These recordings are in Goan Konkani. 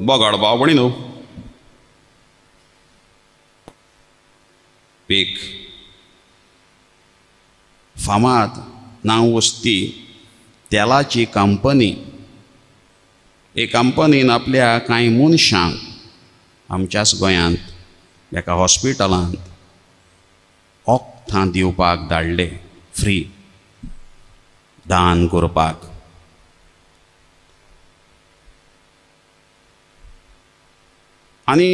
बगाड पावपणी न्हू एक फामाद नांव वस्ती तेलाची कंपनी एक कंपनीन आपल्या कांय मनशांक आमच्याच गोंयांत एका हॉस्पिटलांत वखदां दिवपाक धाडले फ्री दान करपाक. आनी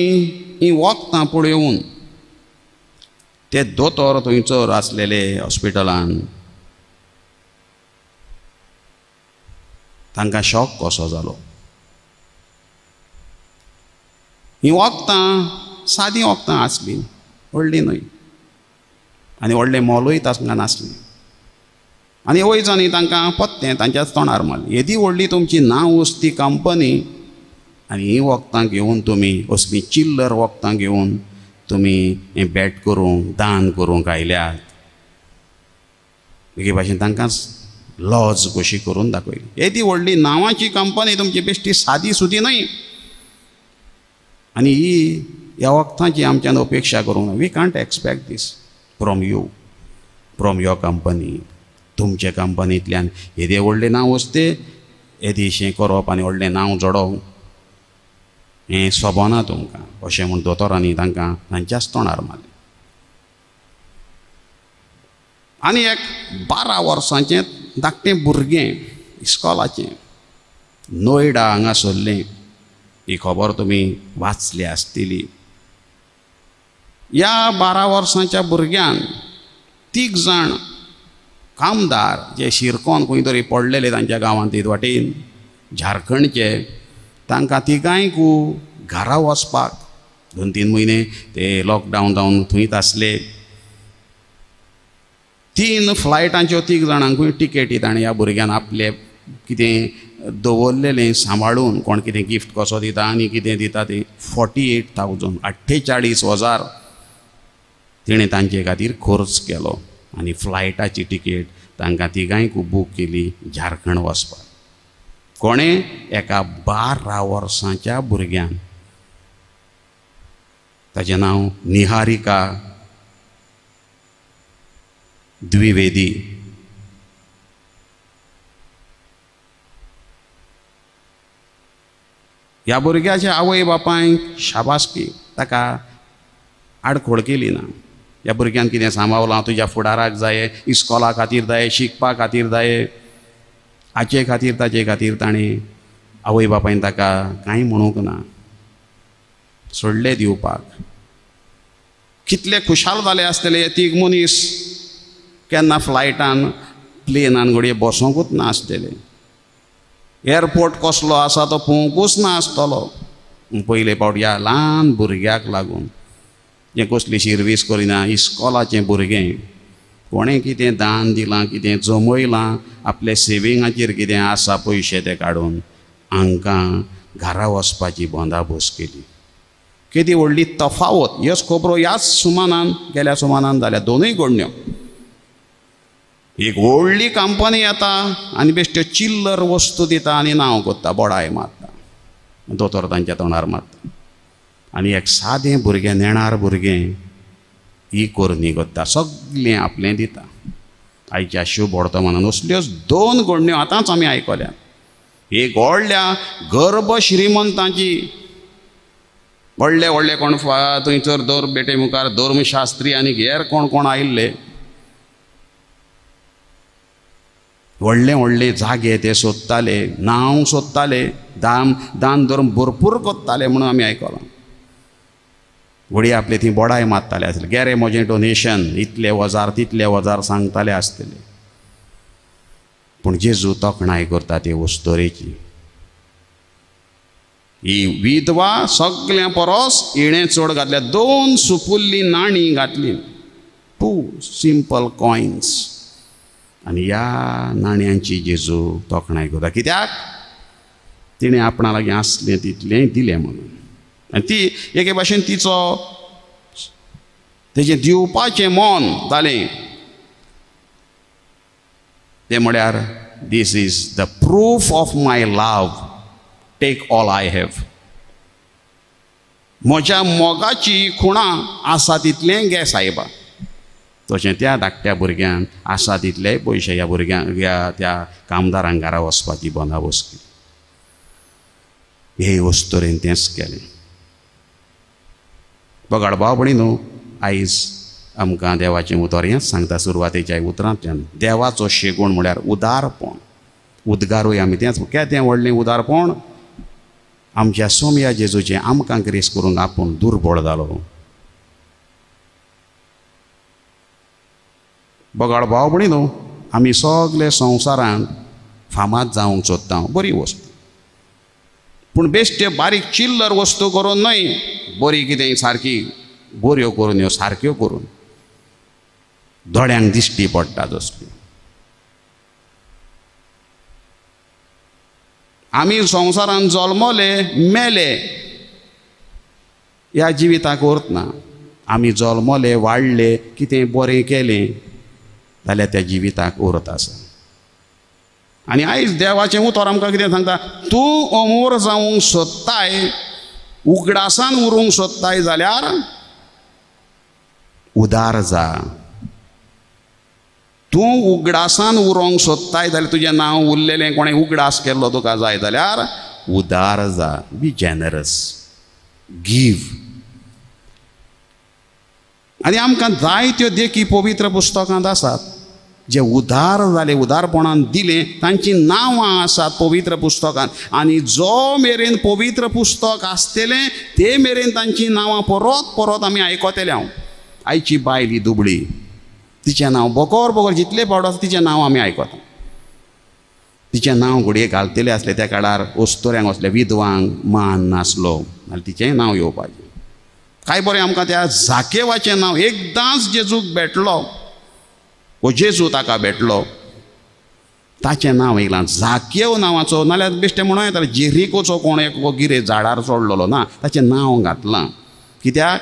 हीं वखदां पळोवन ते दोतोर थंयसर आसलेले हॉस्पिटलान तांकां शॉक कसो जालो. हीं वखदां सादीं वखदां आसलीं, व्हडलीं न्हय आनी व्हडलें मोलूय तांकां नासलें. आनी वयजांनी तांकां पत्तें तांच्याच तोंडार मारलें, येदी व्हडली तुमची नांव वस्ती कंपनी आनी हीं वखदां घेवन तुमी असलीं चिल्लर वखदां घेवन तुमी हें भेट करूंक दान करूंक आयल्यात. एके भाशेन तांकां लॉज कशी करून दाखयली. येदी व्हडली नांवाची कंपनी तुमची बेश्टी सादी सुदी न्हय आनी ही ह्या वखदांची आमच्यान अपेक्षा करूंक ना. We can't expect this from you, from your company. तुमचे कंपनींतल्यान येदें व्हडलें नांव वस्ते येदेशें करप आनी व्हडलें नांव जोडप हें सोबना तुमकां अशें म्हूण दोतोरांनी तांकां तांच्याच तोंडार मारलें. आनी एक 12 वर्सांचें धाकटें भुरगें इस्कॉलाचें नोयडा हांगा सरलें. ही खबर तुमी वाचली आसतली. ह्या 12 वर्सांच्या भुरग्यान 3 जाण कामदार जे शिरकोन खंय तरी पडलेले तांच्या गांवांत वाटेन झारखंडचे, तांकां तिगांयकू घरा वचपाक 2-3 म्हयने ते लॉकडावन जावन थंयच आसले. 3 फ्लायटांच्यो 3 जाणांकूय टिकेटी ताणें ह्या भुरग्यान आपले कितें दवरलेलें सांबाळून, कोण कितें गिफ्ट कसो दिता आनी कितें दिता तें 48,000 48,000 तिणें तांचे खातीर खर्च केलो आनी फ्लायटाची टिकेट तांकां तिगांयकू बूक केली झारखंड वचपाक. कोणें? एका 12 वर्सांच्या भुरग्यान. ताचें नांव निहारिका द्विवेदी. ह्या भुरग्याच्या आवय बापायक शाबासकी, ताका आडखोळ केली ना. ह्या भुरग्यान कितें सांबावलां, तुज्या फुडाराक जाय, इस्कॉला खातीर जाय, शिकपा खातीर जाय, हाचे खातीर ताचे खातीर ताणें आवय बापायन ताका कांय म्हणूंक ना, सोडलें दिवपाक. कितले खुशाल जाले आसतले हे 3 मनीस, केन्ना फ्लायटान प्लेनान घडये बसोंकूच ना आसतले, एअरपोर्ट कसलो आसा तो पळोवंकूच ना आसतलो. पयले फावट ह्या ल्हान भुरग्याक लागून जें कसली शिर्वीस करिना, इस्कॉलाचें भुरगें कोणें कितें दान दिलां, कितें जमयलां, आपल्या सेविंगाचेर कितें आसा पयशे ते काडून हांकां घरा वचपाची बंदाबोस केली. केदी व्हडली तफावत. ह्योच खबरो ह्याच सुमानान गेल्या सुमानान जाल्या दोनूय घडण्यो. एक व्हडली कंपनी येता आनी बेश्ट्यो चिल्लर वस्तू दिता आनी नांव करता, बोडाय मारता, दोतोर तांच्या तोंडार मारता. आनी एक सादें भुरगें, नेणार भुरगें ही करणी करता, सगळें आपलें दिता. आयच्या शुभ वर्तमानान असल्योच 2 घडण्यो आतांच आमी आयकल्यात. एक व्हडल्या गर्भ श्रीमंतांची, व्हडले व्हडले कोण थंयसर दर बेटे मुखार धर्मशास्त्री आनी हेर कोण कोण आयिल्ले, व्हडले व्हडले जागे ते सोदताले, नांव सोदताले, दान धर्म भरपूर करताले म्हणून आमी आयकलां. घडये आपले थंय बोडाय मारताले आसले, गेरे म्हजें डोनेशन इतले हजार तितले हजार सांगताले आसतले. पूण जेजू तोखणाय करता ते वस्तोरेची. ही विधवा सगळ्यां परस हिणें चड घातल्या, 2 सुपुल्ली नाणीं घातली, 2 सिंपल कॉयन्स. आनी ह्या नाण्यांची जेजू तोखणाय करता. कित्याक? तिणें आपणा लागीं आसलें तितलें दिलें म्हणून. आनी ती एके भाशेन तिचो तेजें दिवपाचें मन जालें. तें म्हळ्यार this is the proof of my love, take all I have. म्हज्या मोगाची खुणां आसा तितलें घे सायबा. तशें त्या धाकट्या भुरग्यान आसा तितले पयशे ह्या भुरग्यांक ह्या त्या कामदारांक घरा वचपाची बंदाबस्त केली. हे वस्तुरेन तेंच केलें. बगाड भाव भयणी न्हू, आयज आमकां देवाचें उतर हेंच सांगता सुरवातेच्या उतरांतल्यान. देवाचो शेगूण म्हळ्यार उदारपण. उद्गारूय आमी तेंच केदें व्हडलें उदारपण. आमच्या सोमया जेजूचें आमकां ग्रेस करूंक आपूण दुर्बळ जालो. बगाड भाव भयणी न्हू, आमी सगळे संवसारांत फामाद जावंक सोदता, बरी वस्तू, पूण बेश्टे बारीक चिल्लर वस्तू करून न्हय, बरी कितें सारकी बऱ्यो करून ह्यो सारक्यो करून दोळ्यांक दिश्टी पडटा तसल्यो. आमी संवसारांत जल्मले मेले ह्या जिविताक अर्थ ना. आमी जल्मले वाडले कितें बरें केलें जाल्यार त्या जिविताक अर्थ आसा. आनी आयज देवाचें उतर आमकां कितें सांगता, तूं अमोर जावंक सोदताय, उगडासान उरूंक सोदताय जाल्यार उदार जा. तूं उगडासान उरोंक सोदताय जाल्यार तुजें नांव उरलेलें कोणें उगडास केल्लो तुका जाय जाल्यार उदार जा. बी जेनरस, गिव. आनी आमकां जायत्यो देखी पवित्र पुस्तकांत आसात जे उदार जाले, उदारपणान दिलें, तांचीं नांवां आसात पवित्र पुस्तकांत. आनी जो मेरेन पवित्र पुस्तक आसतलें ते मेरेन तांचीं नांवां परत परत आमी आयकतले. हांव आयची बायल ही दुबळी, तिचें नांव बकर बकर जितले फावट आसा तिचें नांव आमी आयकता. तिचें नांव घडये घालतलें आसलें त्या काळार अस्तुऱ्यांक असले विधवांक मान नासलो जाल्यार तिचेंय नांव येवपाचें. काय बरें आमकां त्या जाकेवाचें नांव एकदांच जेजूक भेटलो, वो जेजू ताका भेटलो, ताचें नांव येयलां जाकेव नांवाचो. नाल्यार बेश्टें म्हणूं येता जेरिकोचो कोण एक गिरे झाडार चडलेलो ना, ताचें नांव घातलां. कित्याक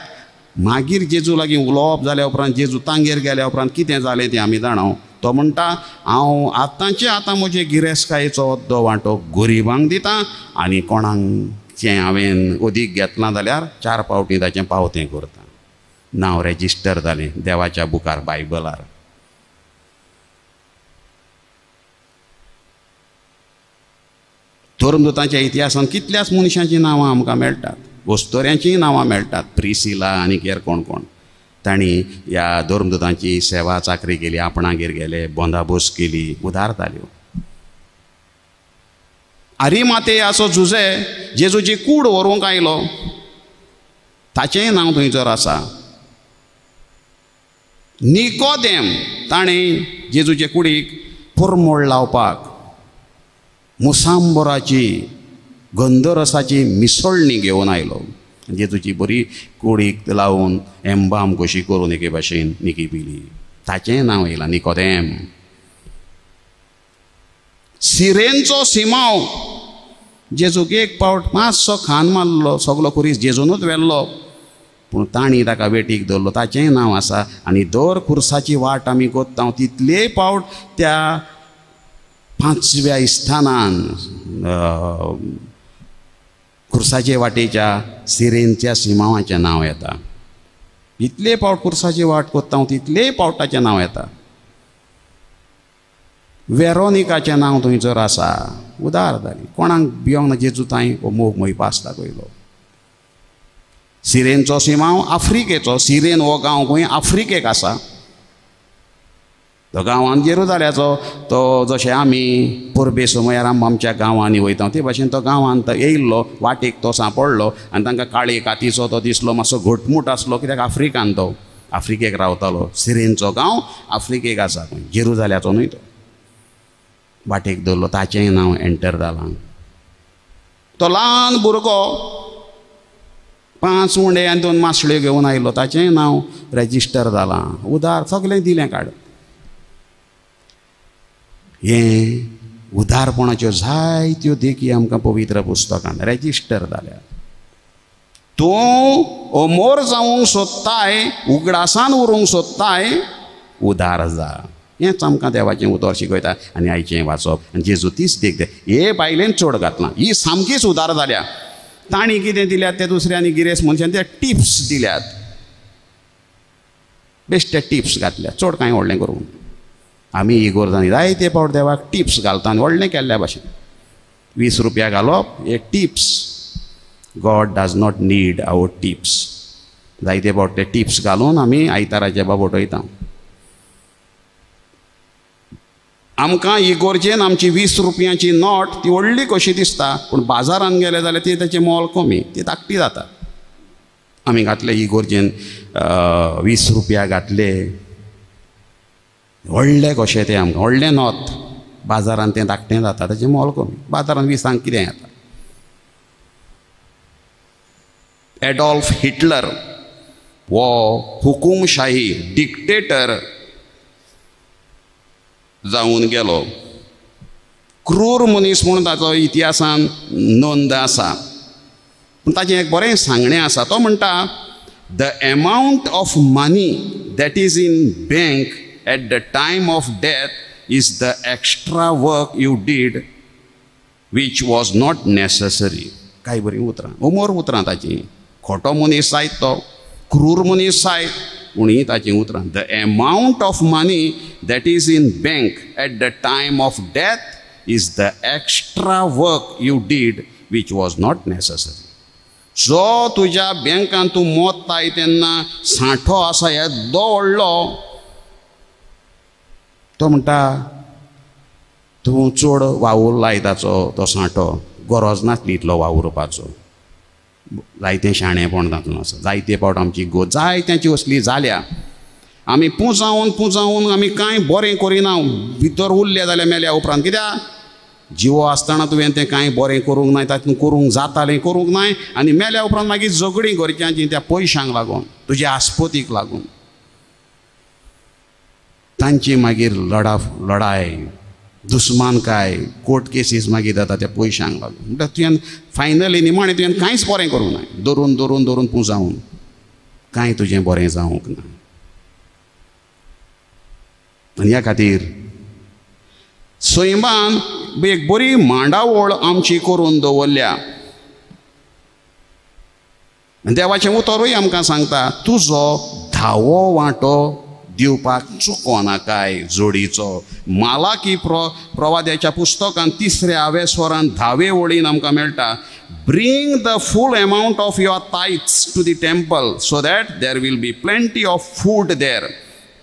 मागीर जेजू लागीं उलोवप जाल्या उपरांत, जेजू तांगेर गेल्या उपरांत कितें जालें तें आमी जाणा. तो म्हणटा हांव आतांचे आतां म्हजे गिरेस्तकायेचो अद्दो वांटो गरिबांक दितां आनी कोणाकचें हांवें अदीक घेतलां जाल्यार 4 फावटी ताचें पावतें करता. नांव रेजिस्टर जालें देवाच्या बुकार, बायबलार. धर्मदूतांच्या इतिहासांत कितल्याच मनशांचीं नांवां आमकां मेळटात, वस्तुऱ्यांचीय नांवां मेळटात, प्रिसिला आनी हेर कोण कोण. तांणी ह्या धर्मदूतांची सेवा चाकरी केली, आपणागेर गेले, बंदाबोस केली, उदार जाल्यो. आरिमातेयाचो जुजे जेजूची कूड व्हरूंक आयलो, ताचेंय नांव थंयसर आसा. निकोदेम ताणें जेजूचे कुडीक परमळ लावपाक मुसांबराची गंधरसाची मिसळणी घेवन आयलो. जेजूची बरी कुडीक लावन एम्बाम कशी करून एके भाशेन निकी पिली, ताचेंय नांव येयलां निकोदेम. सिरेनचो सिमांव जेजूक एक पावट मातसो खान मारलो, सगलो खुरीस जेजूनूच व्हेल्लो, पूण तांणी ताका वेटीक दवरलो, ताचेंय नांव आसा. आनी दर खुर्साची वाट आमी कोत्ता तितलेय पावट त्या 5व्या स्थानान खुर्साचे वाटेच्या सिरेनच्या सिमांवाचें नांव येता. जितले पावट खुर्साची वाट कोत्ता तितलेय पावट ताचें नांव येता. वेरोनिकाचें नांव थंयसर आसा. उदार जाली, कोणाक भियोंक ना, जेजू तांय हो मोग मोहिपास दाखयलो. सिरेनचो सिमांव आफ्रिकेचो, सिरेन हो गांव खंय आफ्रिकेक आसा. तो गांवांत जेरुजाल्याचो, तो जशें आमी परबे समयार आमच्या गांवांनी वयता ते भाशेन तो गांवांत येयल्लो, वाटेक तो सांपडलो आनी तांकां काळे कातीचो तो दिसलो, मातसो घटमूट आसलो, कित्याक आफ्रिकान तो आफ्रिकेक रावतालो. सिरेनचो गांव आफ्रिकेक आसा, जेरुजाल्याचो न्हय तो. वाटेक दवरलो, ताचेंय नांव एंटर जालां. तो ल्हान भुरगो 5 उंडे आनी 2 मासळ्यो घेवन आयलो, ताचेंय नांव रेजिस्टर जालां. उदार सगळें दिलें काड. हें उदारपणाच्यो जायत्यो देखी आमकां पवित्र पुस्तकान रेजिस्टर जाल्यात. तूं अमोर जावंक सोदताय, उगडासान उरूंक सोदताय, उदार जा. हेंच आमकां देवाचें उतर शिकयता. आनी आयचें वाचप आनी जेजू तीच देख हे बायलेन चड घातलां, ही सामकीच उदार जाल्या. तांणी कितें दिल्यात ते दुसऱ्यांनी गिरेस्त मनशान ते टिप्स दिल्यात, बेश्टे टिप्स घातल्या, चड कांय व्हडलें करूंक. आमी इगोर्जांनी जायते फावट देवाक टिप्स घालता आनी व्हडलें केल्ल्या भाशेन. 20 रुपया घालप हे tips. God does not need our tips. जायते फावट ते टिप्स घालून आमी आयताराचे बाबोट वयता. आमकां इगोर्जेन आमची 20 रुपयांची नोट ती व्हडली कशी दिसता, पूण बाजारान गेले जाल्यार ती ताचें मोल कमी, ती धाकटी जाता. आमी घातले इगोर्जेन 20 रुपया घातले, व्हडले कशें तें आमकां व्हडलें नोत, बाजारान तें धाकटें जाता, ताचें मोल कमी. बाजारान 20 कितें येता. एडॉल्फ हिटलर हो हुकुमशाही डिक्टेटर जावन गेलो. क्रूर मनीस म्हूण ताचो इतिहासान नोंद आसा. पूण ताचें एक बरें सांगणें आसा. तो म्हणटा, the amount of money that is in bank at the time of death is the extra work you did which was not necessary. काय बरीं उतरां, उमर उतरां ताचीं. खोटो मनीस जायत तो, क्रूर मनीस जायत, पूण हीं ताचीं उतरां. The amount of money that is in bank at the time of death is the extra work you did which was not necessary. जो तुज्या बँकान तूं मोत्ताय तेन्ना सांठो आसा येदो व्हडलो, तो म्हणटा तूं चड वावुरलाय ताचो तो सांठो, गरज नासली इतलो वावुरपाचो. जायतें शाणेपण तातूंत आसा. जायते फावट आमची गो जायत्यांची असली जाल्या. आमी पुंजावन पुंजावन आमी कांय बरें करिना, भितर उरले जाल्यार मेल्या उपरांत. कित्याक जिवो आसतना तुवें तें कांय बरें करूंक नाय, तातूंत करूंक जातालें करूंक नाय, आनी मेल्या उपरांत मागीर झगडीं घरच्यांची त्या पयशांक लागून, तुज्या आस्पतीक लागून तांची मागीर लडाय, दुस्मानकाय, कोर्ट केसीस मागीर जाता त्या पयशांक लागून. म्हणटा तुवें फायनली निमाणें तुवें कांयच बरें करूंक नाय, धरून धरून धरून पुंजावन कांय तुजें बरें जावंक ना. आनी ह्या खातीर सैमान एक बरी मांडावळ आमची करून दवरल्या. देवाचें उतरूय आमकां सांगता, तुजो धावो वांटो दिवपाक चुको नाकाय जोडीचो. मालाकी प्रवाद्याच्या पुस्तकान 3 आवेस्वरान 10 वळीन आमकां मेळटा, bring the full amount of your tithes to the temple so that there will be plenty of food there.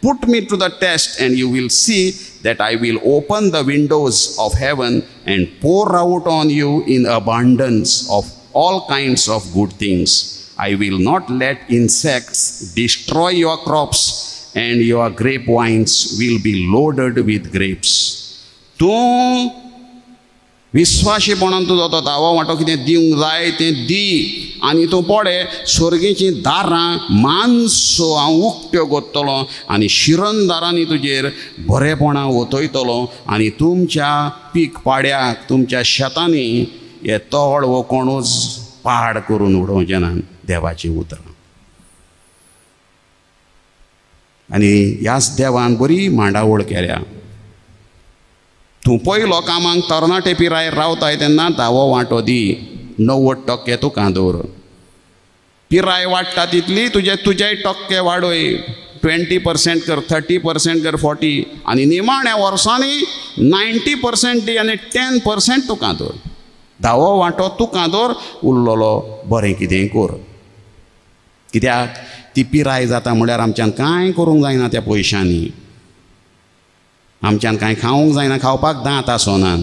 Put me to the test and you will see that I will open the windows of heaven and pour out on you in abundance of all kinds of good things. I will not let insects destroy your crops and your grapevines will be loaded with grapes. तूं विस्वाशीपणान तुजो तो दावो वांटो कितें दिवंक जाय तें दी, आनी तूं पळय स्वर्गीचीं दारां मानसो हांव उक्त्यो करतलो आनी शिरंदारांनी तुजेर बरेपणां ओतयतलो, आनी तुमच्या पीक पाड्याक तुमच्या शेतांनी हे तळ वो कोणूच पाड करून उडोवचें ना. देवाचीं उतरां. आनी ह्याच देवान बरी मांडावळ केल्या. तूं पयलो कामाक तरणाटे पिरायेर रावताय तेन्ना धावो वांटो दी, 90% तुका दवर. पिराय वाडटा तितली तुजे तुजेय टक्के वाडय, 20% कर, 30% कर, 40, आनी निमाण्या वर्सांनी 90% दी आनी 10% तुका दवर. धावो वांटो तुका दवर, उरलेलो बरें कितें कर. कित्याक ती पिराय जाता म्हणल्यार आमच्यान कांय करूंक जायना त्या पयशांनी, आमच्यान कांय खावंक जायना, खावपाक दांत आसनात,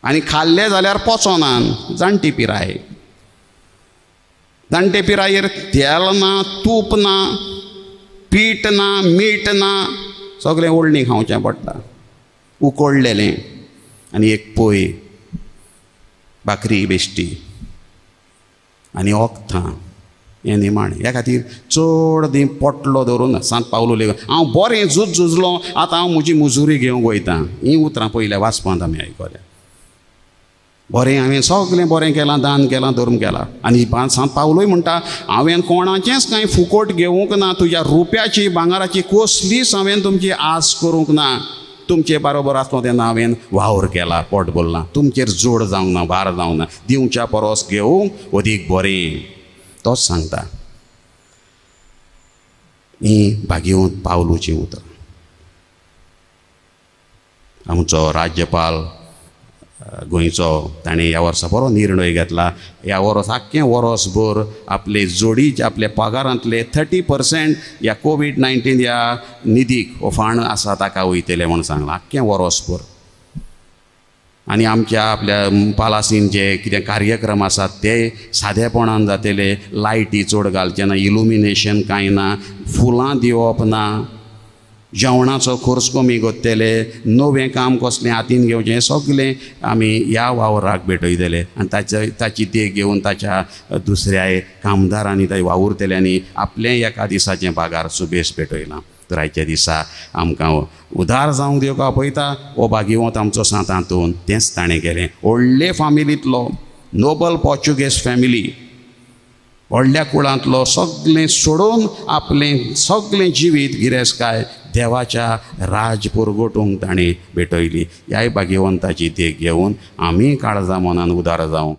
आनी खाल्लें जाल्यार पचोनात. जाणटी पिराय, जाणटे पिरायेर तेल ना, तूप ना, पीठ ना, मीठ ना, सगळें ओडणी खावचें पडटा, उकडलेलें, आनी एक पोय भाकरी बेश्टी आनी ओखतां हें निमाणें. ह्या खातीर चड दी पोटलो धरून सांत पावलो लेगून हांव बरें झूज झुजलो, आतां हांव म्हजी मुजुरी घेवंक वयता. हीं उतरां पयल्या वाचपांत आमी आयकल्या. बरें हांवें सगळें बरें केलां, दान केलां, धर्म केला. आनी सांत पावलूय म्हणटा, हांवें कोणाचेंच कांय फुकट घेवंक ना, तुज्या रुप्याची भांगराची कसलीच हांवें तुमची आस करूंक ना. तुमचे बारोबर आसलो तेन्ना हांवें वावर केला, पोट भरलां, तुमचेर जोड जावंक ना, भार जावंक ना, दिवच्या परस घेवंक अदीक बरें. तोच सांगता. ही भाग्यवंत पावलूचीं उतरां. आमचो राज्यपाल गोंयचो ताणें ह्या वर्सा बरो निर्णय घेतला. ह्या वर्स आख्खें वर्सभर आपले जोडीचे आपल्या पगारांतले 30% ह्या कोवीड-19 ह्या निधीक हो फंड आसा ताका वयतले म्हूण सांगलां, आख्खें वर्सभर. आनी आमच्या आपल्या पालासीन जे कितें कार्यक्रम आसात ते सादेपणान जातले, लायटी चड घालचे ना, इलुमिनेशन कांय ना, फुलां दिवप ना, जेवणाचो खर्च कमी करतले, नवें काम कसलें हातीन घेवचें सगलें आमी ह्या वावराक भेटयतले. आनी ताची देख घेवन ताच्या दुसऱ्या कामदारांनी ताच्या वावुरतल्यांनी आपलें एका दिसाचें पगार सुबेस भेटयलां. तर आयच्या दिसा आमकां उदार जावंक देव आपयता. हो भाग्यवंत आमचो सांत आंतोन तेंच ताणें केलें. व्हडले फामिलींतलो, नोबल पोर्चुगेज फॅमिली, व्हडल्या कुळांतलो, सगलें सोडून आपलें सगलें जिवीत गिरेस्तकाय देवाच्या राज पुरगोटूंक ताणें भेटयली. ह्याय भाग्यवंताची देख घेवन आमी काळजा मनान उदार जावं.